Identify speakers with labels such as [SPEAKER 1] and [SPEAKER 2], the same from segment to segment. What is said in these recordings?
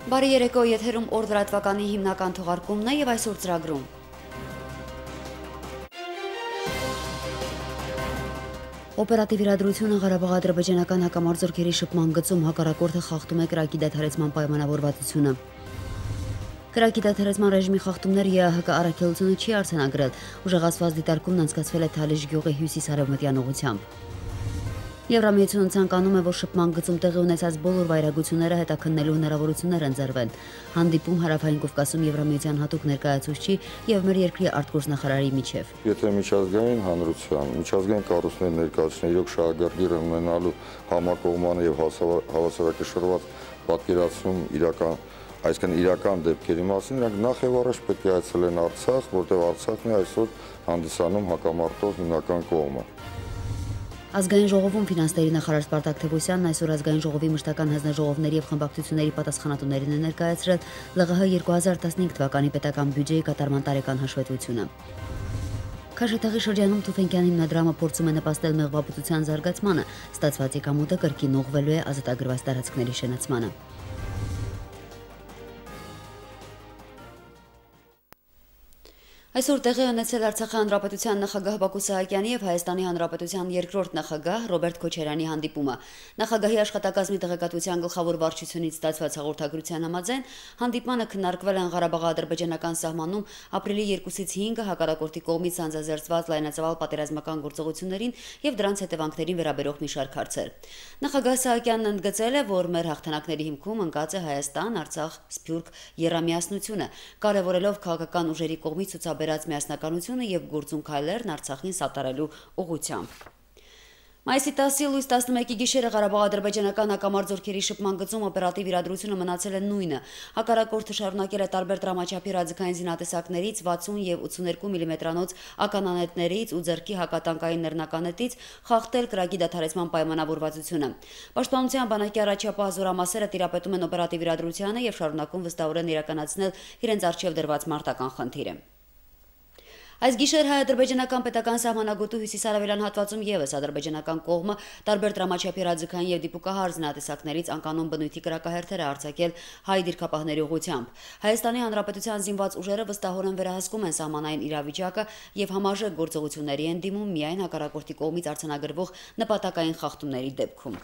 [SPEAKER 1] Բարի երեկո, եթերում օր լրատվականի հիմնական թողարկումն է եւ այսօր ծրագրում։ Օպերատիվ իրադրությունը Ղարաբաղ-ադրբեջանական հակամարտությունների շփման գծում հակառակորդը խախտում է կրակի դադարեցման պայմանավորվածությունը։ Կրակի դադարեցման ռեժիմի խախտումները ԵԱՀԿ առաքելությունը չի արձանագրել, ուժեղացված դիտարկումն անցկացվել է Թալիշ գյուղի հյուսիս-արևմտյան ուղղությամբ։ Եվրամիությունը ցանկանում է, որ շփման գծում տեղի ունեցած բոլոր վայրագությունները հետաքննելու հնարավորություններ ընձեռվեն։ Հանդիպում Հարավային Կովկասում Եվրամիության հատուկ ներկայացուցչի եւ մեր երկրի արտգործնախարարի միջև։
[SPEAKER 2] Եթե միջազգային հանրության, միջազգային կառույցների ներկայացուցիչները իրոք շահագրգիռ ունենալու համակողմանը եւ հավասարակշռված պատկերացում իրական դեպքերի մասին, նրանք նախ եւ առաջ պետք է այցելեն Արցախ, որտեղ Արցախն է այսօր հանդիսանում հակամարտող հիմնական կողմը։
[SPEAKER 1] Ազգային ժողովում ֆինանսների նախարար Սպարտակ Թևոսյանն այսօր ազգային ժողովի մշտական հանձնաժողովների եւ խմբակցությունների պատասխանատուներին է ներկայացրել ԼՂՀ 2015 թվականի պետական բյուջեի կատարման տարեկան հաշվետվությունը։ Քաշաթաղի շրջանում Թուֆենկյան հիմնադրամը փորձում է նպաստել մեղվաբուծության զարգացմանը, ստացված եկամուտը կրկին ուղղվելու է ազատագրված տարածքների շենացմանը։ Այսօր տեղի ունեցել Արցախի հանրապետության նախագահ Բակո Սահակյանի եւ Հայաստանի հանրապետության երկրորդ նախագահ Ռոբերտ Քոչարյանի հանդիպումը։ Նախագահի աշխատակազմի տեղեկատվության գլխավոր վարչությունից ստացված հաղորդագրության համաձայն հանդիպմանը քննարկվել են Ղարաբաղ-ադրբեջանական սահմանում ապրիլի 2-ից 5-ը հակառակորդի կողմից անձազերծված լայնածավալ պատերազմական գործողություններին եւ դրանց հետևանքներին վերաբերող մի շարք հարցեր։ Նախագահ Սահակյանն ընդգծել է, որ մեր հաղթանակների հիմքում ընկած է Հայաստան, Արցախ, Սփյուռք երամիասնությունը, կարևորելով քաղաքական ուժերի կողմից ցուցաբերած միասնականությունը եւ գործուն քայլերն Արցախին սատարելու ուղղությամբ։ Մայիսի 10-ի լույս 11-ի գիշերը Ղարաբաղ-ադրբեջանական հակամարտությունների շփման գծում օպերատիվ իրադրությունը մնացել է նույնը։ Հակառակորդը շարունակել է տարբեր դրամաչափի ռադիկային զինատեսակներից 60 եւ 82 մմ-անոց ականանետներից ու ձեռքի հակատանկային նռնականետից խախտել կրակի դադարեցման պայմանավորվածությունը։ Պաշտպանության բանակի առաջապահ զորամասերը տիրապետում են օպերատիվ իրադրությանը եւ շարունակում վստահորեն իրականացնել իրենց առջեւ դրված մարտական խնդիրը։ Այս գիշեր հայ-ադրբեջանական պետական սահմանագոտու հյուսիսարևելյան հատվածում եւս ադրբեջանական կողմը տարբեր դրամաչափի ռադիկային եւ դիպուկահար զինատեսակներից անկանոն բնույթի կրակահերթեր է արձակել հայ դիրքապահների ուղղությամբ։ Հայաստանի հանրապետության զինված ուժերը վստահորեն վերահսկում են սահմանային իրավիճակը եւ համարժեք գործողությունների են դիմում միայն հակառակորդի կողմից արձանագրվող նպատակային խախտումների դեպքում։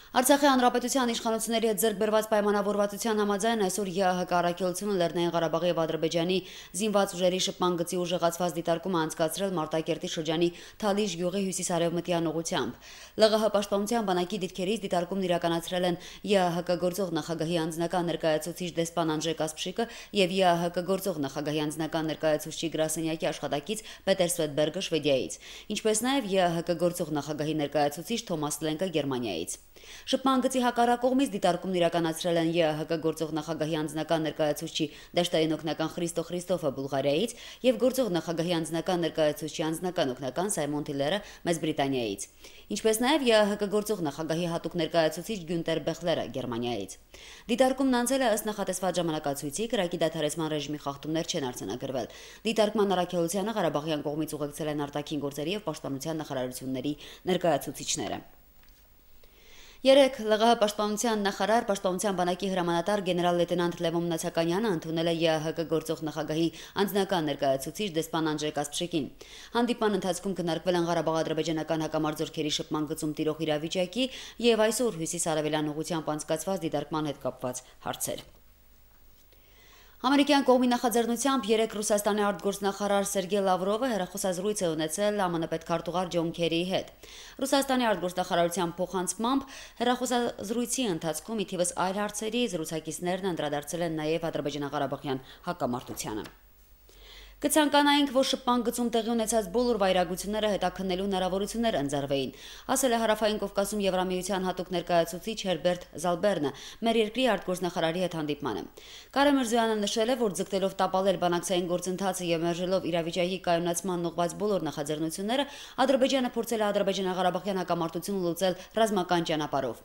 [SPEAKER 1] Արցախի հանրապետության իշխանությունների հետ ձեռք բերված պայմանավորվածության համաձայն այսօր ԵԱՀԿ առաքելությունը Լեռնային Ղարաբաղի եւ Ադրբեջանի զինված ուժերի շփման գծի ուժեղացված դիտարկումը անցկացրել Մարտակերտի շրջանի Թալիշ գյուղի հյուսիսարևմտյան ուղղությամբ։ ԼՂՀ պաշտպանության բանակի դիրքերից դիտարկումն իրականացրել են ԵԱՀԿ գործող նախագահի անձնական ներկայացուցիչ դեսպան Անժե Կասպշիկը եւ ԵԱՀԿ գործող նախագահի անձնական ներկայացուցիչ գրասենյակի աշխատակից Պետեր Սվետբերգը Շվեդիայից, ինչպես նաեւ ԵԱՀԿ գործող նախագահի ներկայացուցիչ Թոմաս Լենկը Գերմանիայից։ Շփման գծի հակառակողմից դիտարկումն իրականացրել են ԵԱՀԿ գործող նախագահի անձնական ներկայացուցչի Դաշտային օգնական Խրիստո Խրիստոֆը Բուլղարիայից եւ գործող նախագահի անձնական ներկայացուցչի անձնական օգնական Սայմոն Թիլերը Մեծ Բրիտանիայից, ինչպես նաեւ ԵԱՀԿ գործող նախագահի հատուկ ներկայացուցիչ Գյունտեր Բեխլերը Գերմանիայից։ Դիտարկումն անցել է ըստ նախատեսված ժամանակացույցի, կրակի դադարեցման ռեժիմի խախտումներ չեն արձանագրվել։ Դիտարկման առաքելությանը Ղարաբաղյան կողմից ուղեկցել են արտաքին գործերի եւ պաշտպանության նախարարությունների ներկայացուցիչները։ Երեկ ԼՂՀ պաշտպանության նախարար, պաշտպանության բանակի հրամանատար գեներալ-լեյտենանտ Լևոն Մնացականյանը ընդունել է ԵԱՀԿ գործող նախագահի անձնական ներկայացուցիչ դեսպան Անժե Կասպշիկին։ Հանդիպման ընթացքում քննարկվել են Ղարաբաղ-ադրբեջանական հակամարտությունների շփման գծում տիրող իրավիճակի եւ այսօր հյուսիսարևելյան ուղղությամբ անցկացված դիտարկման հետ կապված հարցեր։ Ամերիկյան կողմի նախաձեռնությամբ երեկ Ռուսաստանի արտգործնախարար Սերգեյ Լավրովը հեռախոսազրույց է ունեցել ԱՄՆ պետքարտուղար Ջոն Քերիի հետ։ Ռուսաստանի արտգործնախարարության փոխանցմամբ հեռախոսազրույցի ընթացքում ի թիվս այլ հարցերի զրուցակիցներն անդրադարձել են նաև ադրբեջանա-ղարաբաղյան հակամարտությանը։ Կցանկանայինք, որ շփման գծում տեղի ունեցած բոլոր վայրագությունները հետաքննելու հնարավորություններ ընձեռվեին, ասել է Հարավային Կովկասում Եվրամիության հատուկ ներկայացուցիչ Հերբերտ Զալբերնը մեր երկրի արտգործնախարարի հետ հանդիպմանը։ Կարեն Միրզոյանը նշել է, որ ձգտելով տապալել բանակցային գործընթացը եւ մերժելով իրավիճակի կայունացման ուղղված բոլոր նախաձեռնությունները, Ադրբեջանը փորձել է ադրբեջանա-ղարաբաղյան հակամարտությունը լուծել ռազմական ճանապարհով։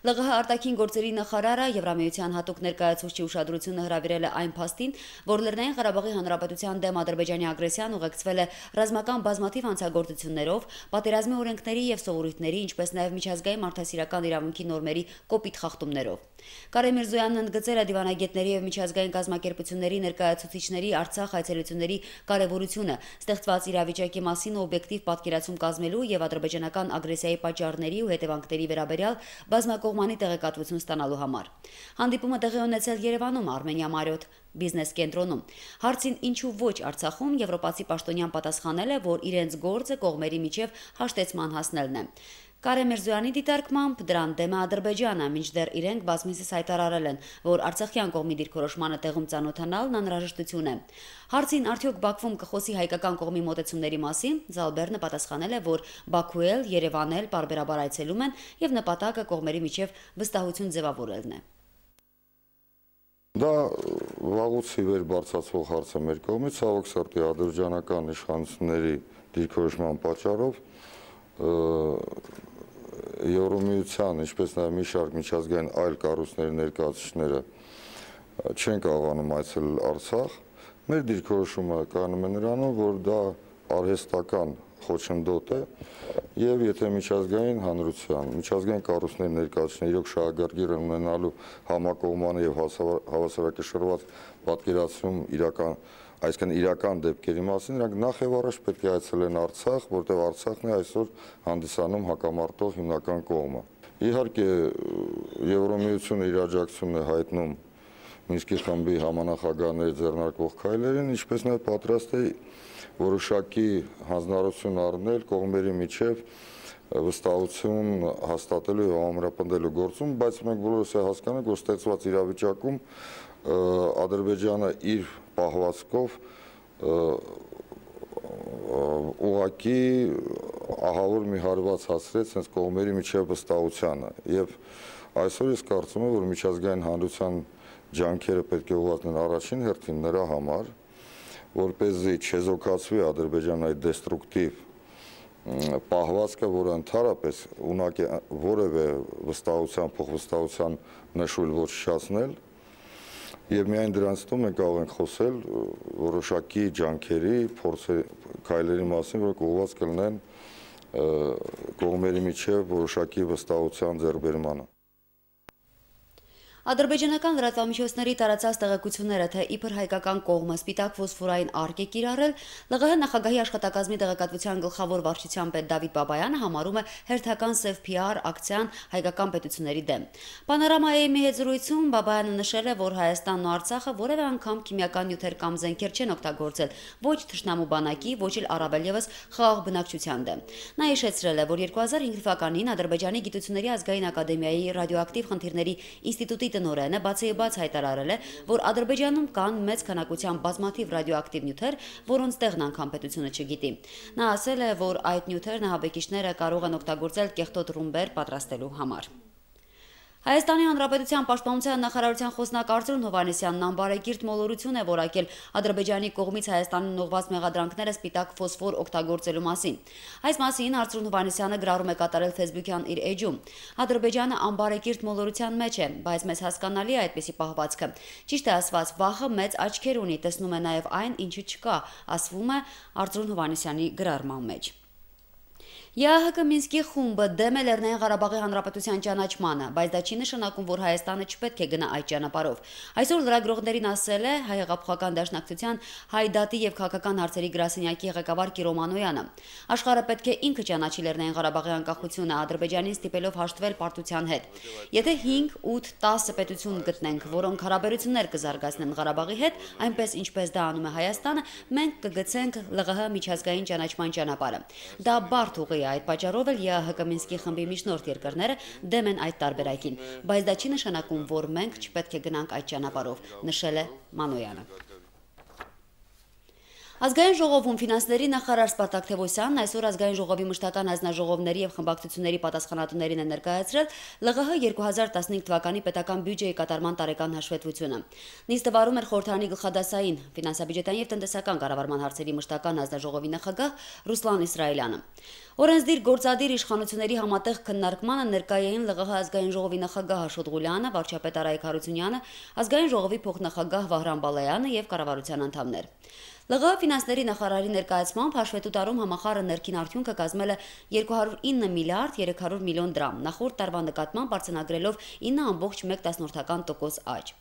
[SPEAKER 1] ԼՂՀ արտաքին գործերի նախարարը Եվրամիության հատուկ ներկայացուցչի ուշադրությունը հրավիրել է այն փաստին, որ Լեռնային Ղարաբաղի հանրապետության դեմ Ադրբեջանի ագրեսիան ուղեկցվել է ռազմական բազմաթիվ հանցագործություններով, պատերազմի օրենքների եւ սովորույթների, ինչպես նաեւ միջազգային մարդասիրական իրավունքի նորմերի կոպիտ խախտումներով։ Կարեն Միրզոյանն ընդգծել է դիվանագետների եւ միջազգային կազմակերպությունների ներկայացուցիչների Արցախ այցելությունների կարեւորությունը ստեղծված իրավիճակի մասին օբյեկտիվ պատկերացում կազմելու եւ ադրբեջանական ագրեսիայի պատճառների ու հետևանքների վերաբերյալ բազմակողմանի տեղեկատվություն ստանալու համար։ Հանդիպումը տեղի ունեցել Երևանում Արմենիա Մարիոթ բիզնես կենտրոնում։ Հարցին ինչու ոչ Արցախում եվրոպացի պաշտոնյան պատասխանել է, որ իրենց գործը կողմերի միջև հաշտեցման հասնելն է։ Կարեն Միրզոյանի դիտարկմամբ դրան դեմ է Ադրբեջանը, մինչդեռ իրենք բազմիցս հայտարարել են, որ արցախյան կողմի դիրքորոշմանը տեղում ծանոթանալն անհրաժեշտություն է։ Հարցին արդյոք Բաքվում կխոսի հայկական կողմի մոտեցումների մասին, Զալբերնը պատասխանել է, որ Բաքու էլ, Երևան էլ պարբերաբար այցելում են եւ նպատակը կողմերի միջև վստահություն ձևավորելն է։
[SPEAKER 2] Դա վաղուց ի վեր բարձրացվող հարց է մեր կողմից, ցավոք սրտի ադրբեջանական իշխանությունների դիրքորոշման պատճառով Եվրոմիության, ինչպես նաև մի շարք միջազգային այլ կառույցների ներկայացուցիչները չեն կարողանում այցելել Արցախ։ Մեր դիրքորոշումը կայանում է նրանում, որ դա արհեստական խոչընդոտ է եւ եթե միջազգային հանրության, միջազգային կառույցների ներկայացուցիչները իրոք շահագրգիռ ունենալու համակողմանի եւ հավասարակշռված պատկերացում իրական դեպքերի մասին, նրանք նախ եւ առաջ պետք է այցելեն Արցախ, որտեղ Արցախն է այսօր հանդիսանում հակամարտող հիմնական կողմը։ Իհարկե, Եվրոմիությունը իր աջակցությունն է հայտնում Մինսկի խմբի համանախագահների ձեռնարկվող քայլերին, ինչպես նաև պատրաստ է որոշակի հանձնարարություն առնել կողմերի միջև վստահություն հաստատելու եւ ամրապնդելու գործում, բայց մենք բոլորս հասկանում ենք, որ ստեղծված իրավիճակում Ադրբեջանը իր պահվածքով ուղղակի ահավոր մի հարված հասցրեց հենց կողմերի միջև վստահությանը եւ այսօր ես կարծում եմ, որ միջազգային հանրության ջանքերը պետք է ուղղվեն առաջին հերթին նրա համար, որպեսզի չեզոքացվի Ադրբեջանի այդ դեստրուկտիվ պահվածքը, որը ընդհանրապես ունակ է որևէ վստահության, փոխվստահության նշույլ ոչնչացնել, եւ միայն դրանց տում մենք կարող ենք խոսել որոշակի ջանքերի, քայլերի մասին, որոնք ուղղված կլինեն կողմերի միջև որոշակի վստահության ձեռքբերմանը։
[SPEAKER 1] Ադրբեջանական լրատվամիջոցների տարածած տեղեկությունները, թե իբր հայկական կողմը սպիտակ ֆոսֆորային արկ է կիրառել, ԼՂՀ նախագահի աշխատակազմի տեղեկատվության գլխավոր վարչության պետ Դավիթ Բաբայանը համարում է հերթական սև PR ակցիան հայկական պետությունների դեմ։ Պանորամայի մի հետ զրույցում Բաբայանը նշել է, որ Հայաստանն ու Արցախը որևէ անգամ քիմիական նյութեր կամ զենքեր չեն օգտագործել ոչ թշնամու բանակի, ոչ էլ առավել եւս խաղաղ բնակչության դեմ։ Նա հիշեցրել է, որ 2005 թվականին Ադրբեջանի Գիտությունների ազգային ակադեմիայի ռադիոակտիվ խնդիրների ինստիտուտի տնօրենը բացեբաց հայտարարել է, որ Ադրբեջանում կան մեծ քանակությամբ բազմաթիվ ռադիոակտիվ նյութեր, որոնց տեղն անգամ պետությունը չգիտի։ Նա ասել է, որ այդ նյութերն ահաբեկիչները կարող են օգտագործել կեղտոտ ռումբեր պատրաստելու համար։ Հայաստանի Հանրապետության Պաշտպանության նախարարության խոսնակ Արծրուն Հովհաննիսյանն անբարեկիրթ մոլորություն է որակել Ադրբեջանի կողմից Հայաստանին ուղղված մեղադրանքները սպիտակ ֆոսֆոր օգտագործելու մասին։ Այս մասին Արծրուն Հովհաննիսյանը գրառում է կատարել Facebook-յան իր էջում։ Ադրբեջանը անբարեկիրթ մոլորության մեջ է, բայց մեզ հասկանալի է այդպիսի պահվածքը։ Ճիշտ է ասված, վախը մեծ աչքեր ունի, տեսնում է նաև այն, ինչը չկա, ասվում է Արծրուն Հովհաննիսյանի գրառման մեջ։ ԵԱՀԿ Մինսկի խումբը դեմ է Լեռնային Ղարաբաղի Հանրապետության ճանաչմանը, բայց դա չի նշանակում, որ Հայաստանը չպետք է գնա այդ ճանապարհով։ Այսօր լրագրողներին ասել է Հայ հեղափոխական դաշնակցության Հայդատի եւ քաղաքական հարցերի գրասենյակի ղեկավար Կիրո Մանոյանը։ Աշխարհը պետք է ինքը ճանաչի Լեռնային Ղարաբաղի անկախությունը, Ադրբեջանին ստիպելով հաշտվել պարտության հետ։ Եթե 5, 8, 10 պետություն գտնենք, որոնք հարաբերություններ կզարգացնեն Ղարաբաղի հետ, այնպես ինչպես դա անում է Հայաստանը, մենք կգցենք ԼՂՀ միջազգային ճանաչման ճանապարհը։ Դա բարդ ուղի է, այդ պատճառով էլ ԵԱՀԿ Մինսկի խմբի միջնորդ երկրները դեմ են այդ տարբերակին, բայց դա չի նշանակում, որ մենք չպետք է գնանք այդ ճանապարհով, նշել է Մանոյանը։ Ազգային ժողովում ֆինանսների նախարար Սպարտակ Թևոսյանն այսօր ազգային ժողովի մշտական հանձնաժողովների եւ խմբակցությունների պատասխանատուներին է ներկայացրել ԼՂՀ 2015 թվականի պետական բյուջեի կատարման տարեկան հաշվետվությունը։ Նիստը վարում էր խորհրդարանի գլխադասային ֆինանսա-բյուջետային եւ տնտեսական կառավարման հարցերի մշտական հանձնաժողովի նախագահ Ռուսլան Իսրայելյանը։ Օրենսդիր գործադիր իշխանությունների համատեղ քննարկմանը ներկայ էին ԼՂՀ ազգային ժողովի նախագահ Աշոտ Ղուլյանը, վարչապետ Արայիկ Հարությունյանը, ազգային ժողովի փոխնախագահ Վահրամ Բալայանը եւ կառավարության անդամներ։ ԼՂՀ ֆինանսների նախարարի ներկայացմամբ հաշվետու տարում համախառն ներքին արդյունքը կազմել է 209 միլիարդ 300 միլիոն դրամ, նախորդ տարվա նկատմամբ արձանագրելով 9.1% աճ։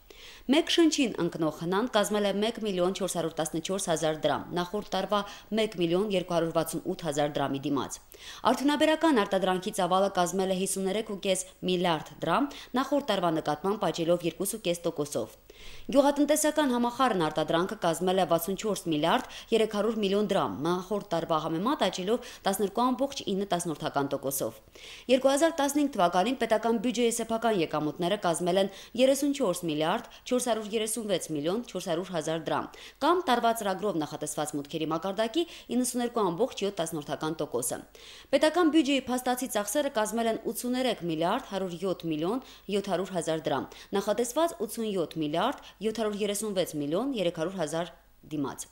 [SPEAKER 1] Մեկ շնչին ընկնող հնան կազմել է 1 միլիոն 414 հազար դրամ, նախորդ տարվա 1 միլիոն 268 հազար դրամի դիմաց։ Արդյունաբերական արտադրանքի ծավալը կազմել է 53.5 միլիարդ դրամ, նախորդ տարվա նկատմամբ աճելով 2.5%-ով։ Գյուղատնտեսական համախառն արտադրանքը կազմել է 64 միլիարդ 300 միլիոն դրամ, նախորդ տարվա համեմատ աճելով 12.9%-ով։ 2015 թվականին պետական բյուջեի սեփական եկամուտները կազմել են 34 միլիարդ 436 միլիոն 400 հազար դրամ, կամ տարվա ծրագրով նախատեսված մուտքերի մակարդակի 92.7%-ը։ Պետական բյուջեի փաստացի ծախսերը կազմել են 83 միլիարդ 107 միլիոն 700 հազար դրամ, նախատեսված 87 միլիարդ 736 միլիոն 300 հազար դիմաց,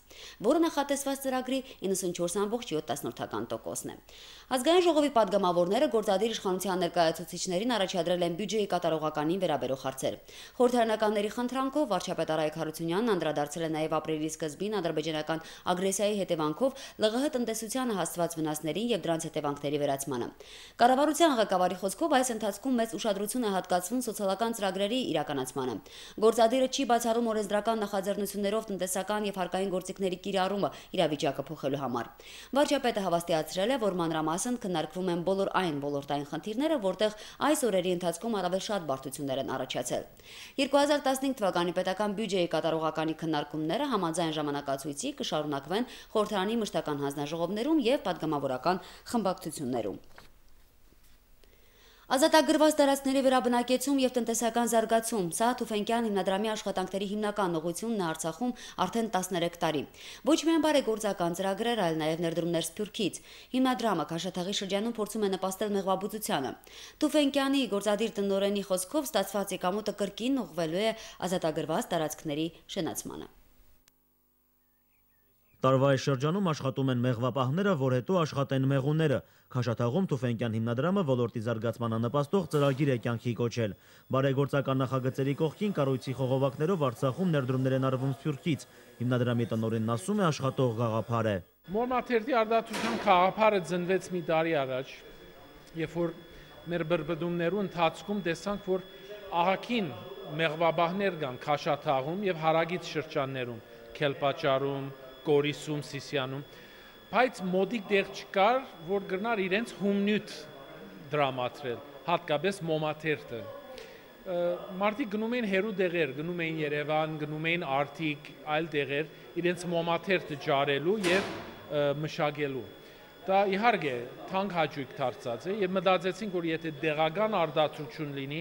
[SPEAKER 1] որը նախատեսված ծրագրի 94.7%-ն է։ Ազգային ժողովի падգամավորները գործադիր իշխանության ներկայացուցիչներին առաջադրել են բյուջեի կատարողականին վերաբերող հարցեր։ Խորհրդարանականների խնդրանքով վարչապետ Արայք Հարությունյանն անդրադարձել է նաև ապրիլի սկզբին ադրբեջանական ագրեսիայի հետևանքով ԼՂՀ տնտեսությանը հասցված վնասներին եւ դրանց հետևանքների վերացմանը։ Կառավարության ղեկավարի խոսքով այս ընթացքում մեծ ուշադրություն է հատկացվում սոցիալական ծրագրերի իրականացմանը։ Գործադիրը չի բացառում օրենսդրական նախաձեռնություններով տնտեսական եւ հարկային գործիքների կիրառումը իրավիճակը փոխելու համար։ Վարչապետը հավաստիացրել է, որ մանրամասն քննարկվում են բոլոր այն ոլորտային խնդիրները, որտեղ այս օրերի ընթացքում առավել շատ բարդություններ են առաջացել։ 2015 թվականի պետական բյուջեի կատարողականի քննարկումները համաձայն ժամանակացույցի կշարունակվեն խորհրդարանի մշտական հանձնաժողովներում եւ падգամավորական խմբակցություններում։ Ազատագրված տարածքների վերաբնակեցում եւ տնտեսական զարգացում, սա Թուֆենկյան հիմնադրամի աշխատանքների հիմնական ուղղությունն է Արցախում արդեն 13 տարի։ Ոչ միայն բարեգործական ծրագրեր, այլ նաեւ ներդրումներ Սփյուռքից։ Հիմնադրամը Քաշաթաղի շրջանում փորձում է նպաստել մեղվաբուծությանը։ Թուֆենկյանի գործադիր տնօրենի խոսքով ստացված եկամուտը կրկին ուղղվելու է ազատագրված տարածքների շենացմանը։
[SPEAKER 3] Տարվա այս շրջանում աշխատում են մեղվապահները, որ հետո աշխատեն մեղուները։ Քաշաթաղում Թուֆենկյան հիմնադրամը ոլորտի զարգացմանը նպաստող ծրագիր է կյանքի կոչել։ Բարեգործական նախագծերի կողքին կառույցի խողովակներով Արցախում ներդրումներ են արվում Սփյուռքից։ Հիմնադրամի տնօրենն ասում է, աշխատող գաղափար է։
[SPEAKER 4] Մորմաթերթի արդարացության գաղափարը ծնվեց մի տարի առաջ, երբ որ մեր բրբդումներու ընթացքում տեսանք, որ ահագին մեղվապահներ կան Քաշաթաղում եւ հարագից շրջաններում, Քելպաճարում, Կորիսում, Սիսիանում, բայց մոդիկ դեղ չկար, որ գրնար իրենց հումնյութ դրամատրել, հատկապես մոմաթերթը։ Մարդիկ գնում էին հերու դեղեր, գնում էին Երևան, գնում էին Արտիկ, այլ դեղեր, իրենց մոմաթերթը ջարելու եւ մշակելու։ Դա իհարկե թանկ հաճույք դարձած է եւ մտածեցինք, որ եթե դեղական արդարացություն լինի,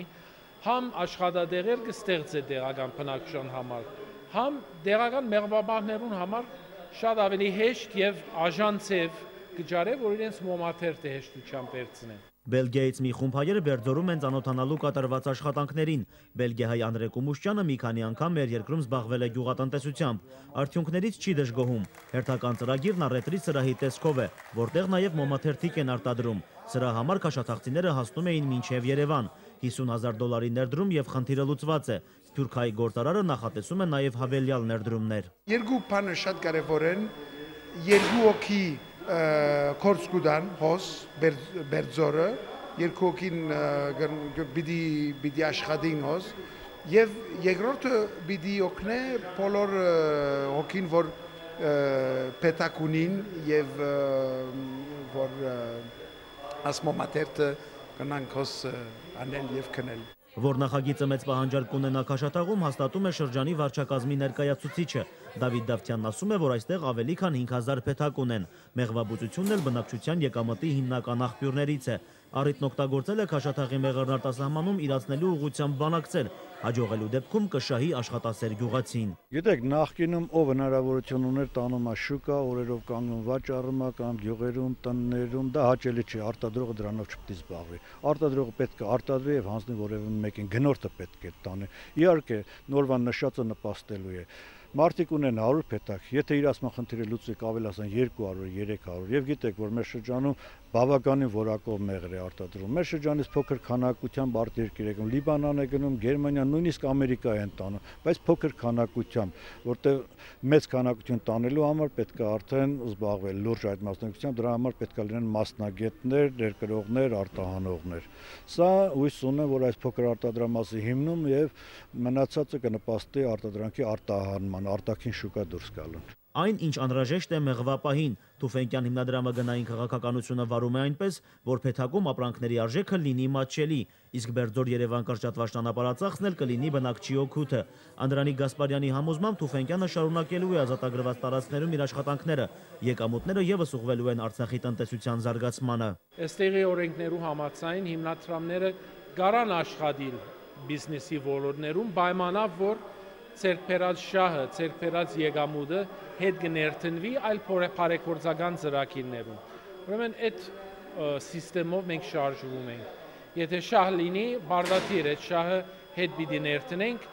[SPEAKER 4] համ աշխատադեղեր կստեղծե դեղական բնակչության համար, համ դեղական մեղվապահներուն համար շատ ավելի հեշտ եւ աժանցև կջարե, որ իրենց մոմաթերթը հեշտությամբ վերցնեն։
[SPEAKER 3] Բելգիայից մի խումբ հայեր Բերձորում են ծանոթանալու կատարված աշխատանքներին։ Բելգիահայ Անդրե Կումուշյանը մի քանի անգամ մեր երկրում զբաղվել է գյուղատնտեսությամբ։ Արդյունքներից չի դժգոհում։ Հերթական ծրագիրն առևտրի սրահի տեսքով է, որտեղ նաև մոմաթերթիկ են արտադրում։ Սրա համար քաշաթաղցիները հասնում էին մինչև Երևան։ $50,000 ներդրում եւ խնդիրը լուծված է։ Սփյուռքահայ գործարարը նախատեսում է նաև հավելյալ ներդրումներ։
[SPEAKER 5] Երկու բանը շատ կարևոր են, երկու հոգի կորցկուդան հոս Բերձորը, երկու հոգին պիտի աշխատին հոս, եւ երկրորդը պիտի օգնե բոլոր հոգին, որ պետք ունին եւ որ ասմոմաթերթը կնանք հոս անել եւ քնել։
[SPEAKER 3] Որ նախագիծը մեծ պահանջարկ ունենա Քաշաթաղում, հաստատում է շրջանի վարչակազմի ներկայացուցիչը։ Դավիթ Դավթյանն ասում է, որ այստեղ ավելի քան 5000 պետակ ունեն։ Մեղվաբուծությունն էլ բնակչության եկամտի հիմնական աղբյուրներից է։ Առիթն օգտագործել է Քաշաթաղի մեղրն արտասահմանում իրացնելու ուղղությամբ բանակցել։ Հաջողելու դեպքում կշահի աշխատասեր գյուղացին։
[SPEAKER 6] Գիտեք, նախկինում ով հնարավորություն ուներ տանում է շուկա, օրերով կանգնում վաճառում է կամ գյուղերում, տններում, դա հաճելի չէ, արտադրողը դրանով չպետք է զբաղվի։ Արտադրողը պետք է արտադրի եւ հանձնի որևէ մեկին, գնորդը պետք է տանի։ Իհարկե, նորվան նշածը նպաստելու է։ Մարդիկ ունեն 100 պետակ, եթե իրացման խնդիրը լուծի կավելացան 200, 300, եւ գիտեք, որ մեր շրջանում բավականին որակով մեղր է արտադրում։ Մեր շրջանից փոքր քանակությամբ արտերկիր է գնում, Լիբանան է գնում, Գերմանիա, նույնիսկ Ամերիկա են տանում, բայց փոքր քանակությամբ, որտեղ մեծ քանակություն տանելու համար պետք է արդեն զբաղվել լուրջ այդ մասնակցությամբ, դրա համար պետք է լինեն մասնագետներ, ներկրողներ, արտահանողներ։ Սա հույս ունեմ, որ այս փոքր արտադրամասի հիմնում եւ մնացածը կնպաստի արտադրանքի արտահանման, արտաքին շուկա դուրս գալուն։
[SPEAKER 3] Այն, ինչ անհրաժեշտ է մեղվապահին, Թուֆենկյան հիմնադրամը գնային քաղաքականությունը վարում է այնպես, որ փեթակում ապրանքների արժեքը լինի մատչելի, իսկ Բերձոր-Երևան կրճատված ճանապարհածախսն էլ կլինի բնակչի օգուտը։ Անդրանիկ Գասպարյանի համոզմամբ Թուֆենկյանը շարունակելու է ազատագրված տարածքներում իր աշխատանքները, եկամուտները եւս ուղղվելու են Արցախի տնտեսության զարգացմանը։
[SPEAKER 4] Այստեղի օրենքներու համաձայն հիմնադրամները կարան աշխատել բիզնեսի ոլորտներում, պայմանավ որ ցերկբերած շահը, ցերկբերած եկամուտը հետ կներտնվի այլ բարեգործական ծրագիրներում։ Ուրեմն այդ սիստեմով մենք շարժվում ենք։ Եթե շահ լինի, բարդաթիր այդ շահը հետ պիտի ներտնենք,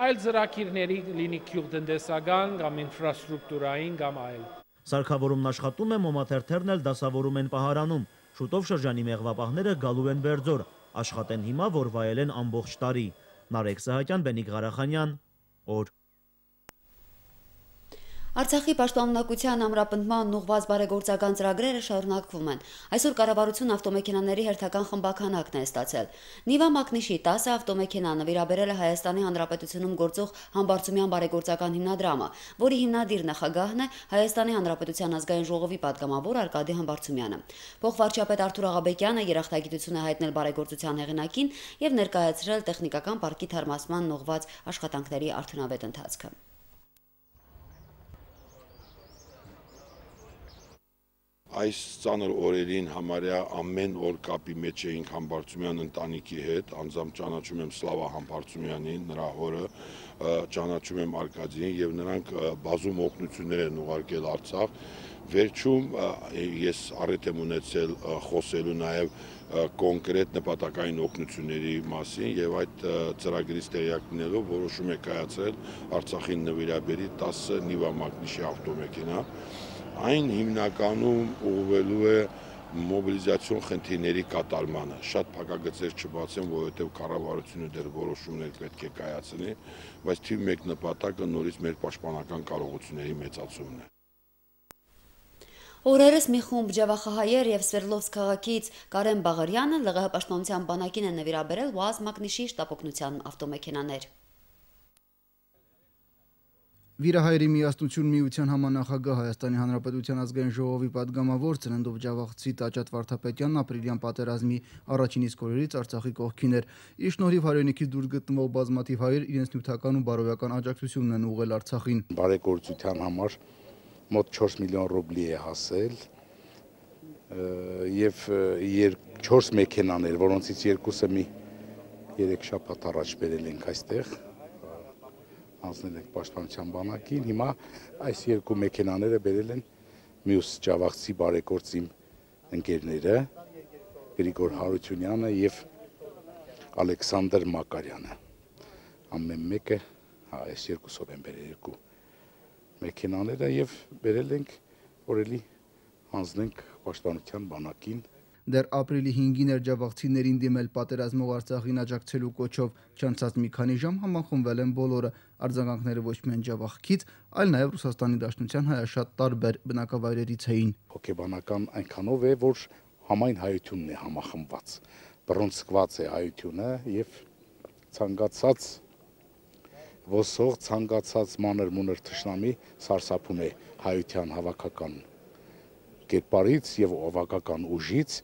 [SPEAKER 4] այլ ծրագիրների լինի գյուղտնտեսական կամ ինֆրաստրուկտուրային կամ այլ։
[SPEAKER 3] Սարքավորումն աշխատում է, մոմաթերթերն էլ դասավորում են Պահարանում։ Շուտով շրջանի մեղվապահները գալու են Բերձոր, աշխատեն հիմա, որ վայելեն ամբողջ տարի։ Նարեկ Սահակյան, Բենիկ Ղարախանյան, օր։
[SPEAKER 1] Արցախի պաշտպանունակության ամրապնդման ուղղված բարեգործական ծրագրերը շարունակվում են։ Այսօր կառավարություն ավտոմեքենաների հերթական խմբականակն է ստացել։ Նիվա Մակնիշի 10 ավտոմեքենա նվիրաբերել է Հայաստանի Հանրապետությունում գործող Համբարձումյան բարեգործական հիմնադրամը, որի հիմնադիր նախագահն է Հայաստանի Հանրապետության ազգային ժողովի պատգամավոր Արկադի Համբարձումյանը։ Փոխվարչապետ Արթուր Աղաբեկյանը երախտագիտություն է հայտնել բարեգործության հեղինակին եւ ներկայացրել տեխնիկական պարկի թարմացման ուղղված աշխատանքների արդյունավետ ընթացքը։
[SPEAKER 7] Այս ծանր օրերին համարյա ամեն օր կապի մեջ էինք Համբարձումյան ընտանիքի հետ, անձամբ ճանաչում եմ Սլավա Համբարձումյանին, նրա հորը, ճանաչում եմ Արկադիին եւ նրանք բազում օգնություններ են ուղարկել Արցախ։ Վերջում ես առիթ եմ ունեցել խոսելու նաեւ կոնկրետ նպատակային օգնությունների մասին եւ այդ ծրագրից տեղյակ լինելով որոշում է կայացրել Արցախին նվիրաբերի 10 Նիվա Մակնիշի ավտոմեքենա։ Այն հիմնականում ուղղվելու է մոբիլիզացիոն խնդիրների կատարմանը։ Շատ փակագծեր չբացեմ, որովհետև կառավարությունը դեռ որոշումներ պետք է կայացնի, բայց թիվ 1 նպատակը նորից մեր պաշտպանական կարողությունների մեծացումն է։
[SPEAKER 1] Օրերս մի խումբ ջավախահայեր եւ Սվերդլովսկ քաղաքից Կարեն Բաղարյանը ԼՂՀ պաշտպանության բանակին է նվիրաբերել ՈԱԶ Մակնիշի շտապօգնության ավտոմեքենաներ։
[SPEAKER 8] Վիրահայերի միասնություն միության համանախագահ Հայաստանի Հանրապետության ազգային ժողովի պատգամավոր Ծննդով ջավախցի Տաճատ Վարդապետյանն ապրիլյան պատերազմի առաջին իսկ օրերից Արցախի կողքին էր։ Իր շնորհիվ հայրենիքից դուրս գտնվող բազմաթիվ հայեր իրենց նյութական ու բարոյական աջակցությունն են ուղղել Արցախին։
[SPEAKER 5] Բարեգործության համար մոտ 4 միլիոն ռուբլի է հասել եւ 4 մեքենաներ, որոնցից 2-ը մի 3 շաբաթ առաջ բերել ենք այստեղ։ Անցնել ենք պաշտպանության բանակին, հիմա այս 2 մեքենաները բերել են մյուս ջավախցի բարեգործիմ ընկերները Գրիգոր Հարությունյանը եւ Ալեքսանդր Մակարյանը։ Ամեն մեկը այս 2-ով են բերել 2 մեքենաները եւ բերել ենք որ էլի հանձնենք պաշտպանության բանակին։
[SPEAKER 8] Դեռ ապրիլի 5-ին էր ջավախցիներին դիմել պատերազմող Արցախին աջակցելու կոչով, չանցած մի քանի ժամ համախմբվել են բոլորը, արձագանքները ոչ միայն ջավախքից, այլ նաև Ռուսաստանի Դաշնության հայաշատ տարբեր բնակավայրերից էին։
[SPEAKER 5] Հոգեբանական այնքանով է, որ համայն հայությունն է համախմբված, բռունցքված է հայությունը եւ ցանկացած ոսող, ցանկացած մանր-մունր թշնամի սարսափում է հայության հավաքական կերպարից եւ ավակական ուժից,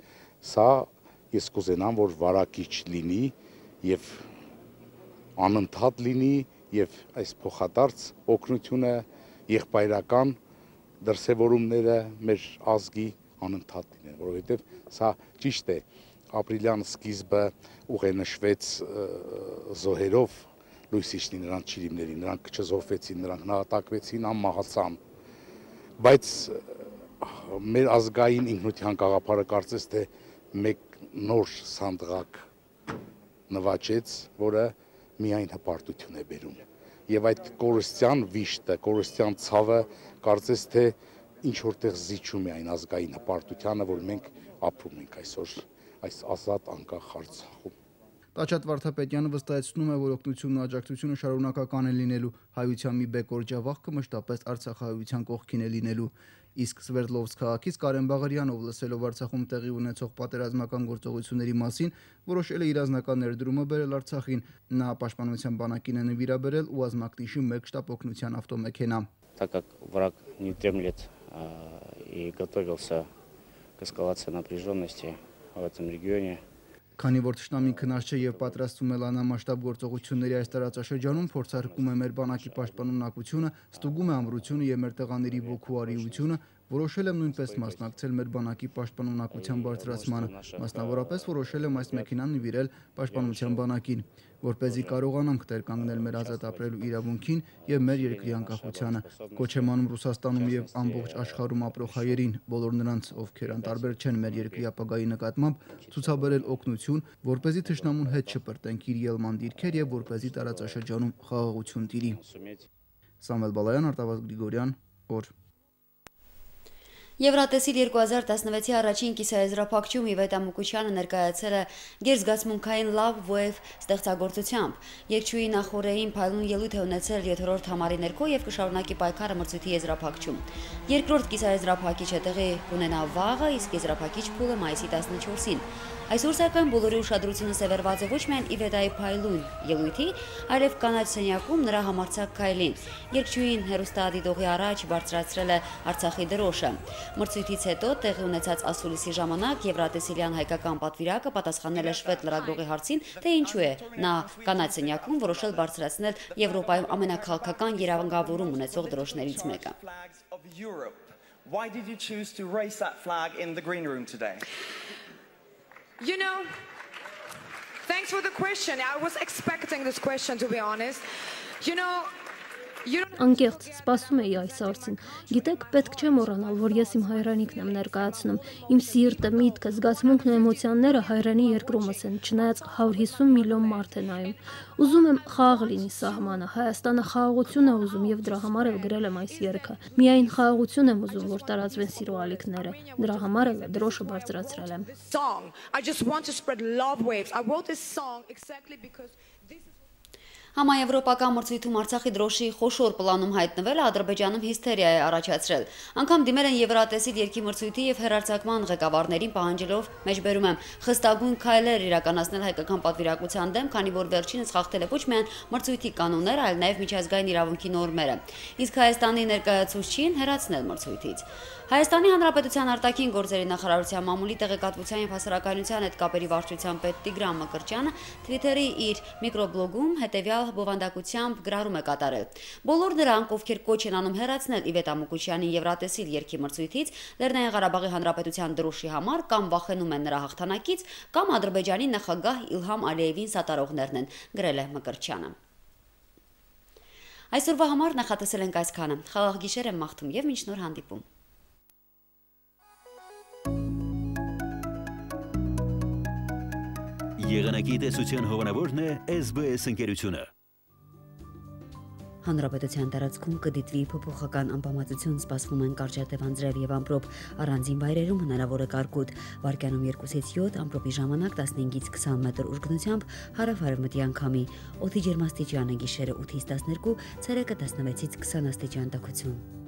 [SPEAKER 5] սա ես կուզենամ, որ վարակիչ լինի եւ անընդհատ լինի եւ այս փոխադարձ օգնությունը եղբայրական դրսևորումները մեր ազգի անընդհատ լինեն, որովհետեւ սա ճիշտ է, ապրիլյան սկիզբը ուղենշվեց զոհերով լույսիչնի նրանց ճիրիմներին, նրանք չզոհվեցին, նրանք նահատակվեցին, անմահացան, բայց մեր ազգային ինքնության գաղափարը կարծես թե մեկ նոր սանդղակ նվաճեց, որը միայն հպարտություն է բերում։ Եվ այդ կորստյան վիշտը, կորստյան ցավը կարծես թե ինչ որտեղ զիջում է այն ազգային հպարտությանը, որ մենք ապրում ենք այսօր այս ազատ անկախ Արցախում։
[SPEAKER 8] Տաճատ Վարդապետյանը վստահեցնում է, որ օգնությունն ու աջակցությունը շարունակական է լինելու, հայության մի բեկոր ջավախքը մշտապես արցախահայության կողքին է լինելու։ Իսկ Սվերդլովսկ քաղաքից Կարեն Բաղարյանով լսելով Արցախում տեղի ունեցող պատերազմական գործողությունների մասին, որոշել է իր անձնական ներդրումը բերել Արցախին։ Նա Պաշտպանության բանակին է նվիրաբերել ու Ազմակնիշի 1 շտապ օգնության ավտոմեքենա։
[SPEAKER 9] Так как враг не дремлет и готовился к эскалации напряженности в этом регионе.
[SPEAKER 8] Քանի որ թշնամին քնած չէ եւ պատրաստվում է լայնամասշտաբ գործողությունների այս տարածաշրջանում, փորձարկում է մեր բանակի պաշտպանունակությունը, ստուգում է ամրությունը եւ մեր տղաների ոգու արիությունը, որոշել եմ նույնպես մասնակցել մեր բանակի պաշտպանունակության բարձրացմանը, մասնավորապես որոշել եմ այս մեքենան նվիրել պաշտպանության բանակին, որպեսզի կարողանանք տեր կանգնել մեր ազատ ապրելու իրավունքին եւ մեր երկրի անկախությանը։ Կոչ եմ անում Ռուսաստանում եւ ամբողջ աշխարհում ապրող հայերին, բոլոր նրանց, ովքեր անտարբեր չեն մեր երկրի ապագայի նկատմամբ, ցուցաբերել օգնություն, որպեսզի թշնամուն հետ չպրտենք իր ելման դիրքեր եւ որպեսզի տարածաշրջանում խաղաղություն տիրի։ Սամվել Բալայան, Արտավազդ Գրիգորյան, օր։
[SPEAKER 1] Եվրատեսիլ 2016-ի առաջին կիսաեզրափակչում Իվետ Ամուկուչյանը ներկայացել է գերզգացմունքային Love Wave ստեղծագործությամբ։ Երգչուհի նախօրեին փայլուն ելույթ է ունեցել 7-րդ համարի ներքո եւ կշարունակի պայքարը մրցույթի եզրափակչում։ Երկրորդ կիսաեզրափակիչը տեղի կունենա վաղը, իսկ եզրափակիչ փուլը մայիսի 14-ին։ Այսօր սակայն բոլորի ուշադրությունը սևեռված է ոչ միայն Իվետայի փայլուն ելույթի, այլև կանաչ սենյակում նրա համարձակ քայլին։ Երգչուհին հեռուստադիտողի առաջ բարձրացրել է Արցախի դրոշը։ Մրցույթից հետո տեղի ունեցած ասուլիսի ժամանակ Եվրատեսիլյան հայկական պատվիրակը պատասխանել է շվեդ լրագրողի հարցին, թե ինչու է նա կանաչ սենյակում որոշել բարձրացնել Եվրոպայում ամենաքաղաքական երանգավորում ունեցող դրոշներից մեկը։
[SPEAKER 10] Why did you choose to raise that flag in the green room today?
[SPEAKER 11] You know, thanks for the question. I was expecting this question, to be honest. You know,
[SPEAKER 12] Անկեղծ սպասում էի այս հարցին։ Գիտեք, պետք չէ մոռանալ, որ ես իմ հայրենիքն եմ ներկայացնում։ Իմ սիրտը, միտքը, զգացմունքն ու էմոցիաները հայրենի երկրումս են, չնայած 150 միլիոն մարդ է նայում։ Ուզում եմ խաղաղ լինի սահմանը, Հայաստանը խաղաղություն է ուզում եւ դրա համար էլ գրել եմ այս երգը։ Միայն խաղաղություն եմ ուզում, որ տարածվեն սիրո ալիքները։ Դրա համար էլ դրոշը բարձրացրել եմ։
[SPEAKER 11] I just want to spread love waves. I wrote this song exactly because this is
[SPEAKER 1] Համաեվրոպական մրցույթում Արցախի դրոշի խոշոր պլանում հայտնվելը Ադրբեջանում հիստերիա է առաջացրել։ Անգամ դիմել են Եվրատեսիլ երկի մրցույթի եւ հեռարձակման ղեկավարներին պահանջելով մեջբերում եմ խստագույն քայլեր իրականացնել հայկական պատվիրակության դեմ, քանի որ վերջինս խախտել է ոչ միայն մրցույթի կանոնները, այլ նաեւ միջազգային իրավունքի նորմերը։ Իսկ Հայաստանի ներկայացուցչին հեռացնել մրցույթից։ Հայաստանի Հանրապետության արտաքին գործերի նախարարության մամուլի տեղեկատվության եւ հասարակայնության հետ կապերի վարչության պետ Տիգրան Մկրտչյանը Twitter-ի իր միկրոբլոգում հետեւյալ բովանդակությամբ գրառում է կատարել. Բոլոր նրանք, ովքեր կոչ են անում հեռացնել Իվետ Ամուկուչյանի Եվրատեսիլ երկի մրցույթից Լեռնային Ղարաբաղի Հանրապետության դրոշի համար կամ վախենում են նրա հաղթանակից, կամ Ադրբեջանի նախագահ Իլհամ Ալիևին սատարողներն են, գրել է Մկրտչյանը։ Այսօրվա համար նախատեսել ենք այսքանը։ Խաղաղ գիշեր եմ մաղթում եւ մինչ նոր հանդիպում։
[SPEAKER 13] Եղանակի տեսության հովանավորն է SBS ընկերությունը։
[SPEAKER 1] Հանրապետության տարածքում կդիտվի փոփոխական անբավարարություն, սպասվում են կարճատև անձրև եւ ամպրոպ, առանձին վայրերում հնարավոր է կարկուտ, վարկյանում 2-ից 7, ամպրոպի ժամանակ 15-ից 20 մետր ուժգնությամբ հարավ-արևմտի անկամի, օդի ջերմաստիճանը գիշերը 8-ից 12, ցերեկը 16-ից 20 աստիճան տաքություն։